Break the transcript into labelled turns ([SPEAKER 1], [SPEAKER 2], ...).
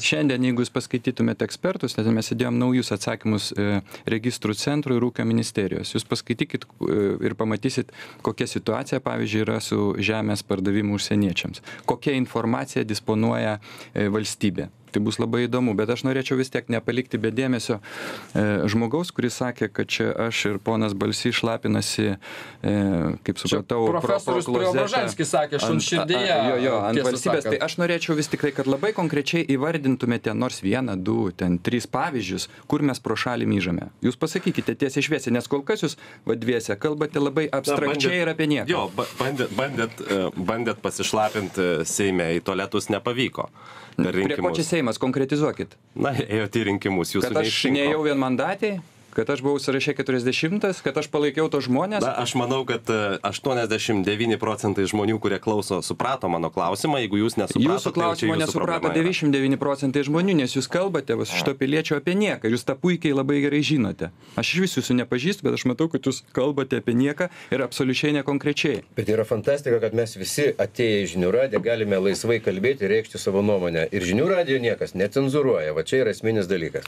[SPEAKER 1] Šiandien, jeigu jūs paskaitytumėte ekspertus, tai mes įdėjom naujus atsakymus registrų centrų ir ūkio ministerijos. Jūs paskaitykit ir pamatysit, kokia situacija, pavyzdžiui, yra su žemės pardavimu užsieniečiams. Kokia informacija disponuoja valstybė. Tai bus labai įdomu, bet aš norėčiau vis tiek nepalikti be dėmesio žmogaus, kuris sakė, kad čia aš ir ponas Balsys šlapinasi, kaip supratau,
[SPEAKER 2] profesorius Preobražanskis sakė, šunširdėje.
[SPEAKER 1] Ant valstybės. Tai aš norėčiau vis tik tai, kad labai konkrečiai įvardintumėte nors 1, 2, 3 pavyzdžius, kur mes pro šalį myžame. Jūs pasakykite tiesiai šviesiai, nes kol kas jūs vadviese kalbate labai abstrakčiai ir apie nieką.
[SPEAKER 3] Jo, bandėt pasišlapinti Seime, į tualetus nepavyko.
[SPEAKER 1] Prie ko čia Seimas, konkretizuokit.
[SPEAKER 3] Na, ėjote į rinkimus, jūsų
[SPEAKER 1] neišrinko. Kad aš nejau vienmandatėj? Kad aš buvau sąraše 40, kad aš palaikiau tos žmonės?
[SPEAKER 3] Na, aš manau, kad 89% žmonių, kurie klauso, suprato mano klausimą. Jeigu jūs nesuprato,
[SPEAKER 1] jūsų klausimo nesuprato 99% žmonių, nes jūs kalbate šito piliečio apie nieką. Jūs tą puikiai labai gerai žinote. Aš iš visų jūsų nepažįstu, bet aš matau, kad jūs kalbate apie nieką ir absoliučiai nekonkrečiai.
[SPEAKER 4] Bet yra fantastika, kad mes visi atėję į Žinių radiją galime laisvai kalbėti ir reikšti savo nuomonę. Ir Žinių radijo niekas necenzūruoja. Va čia yra esminis dalykas.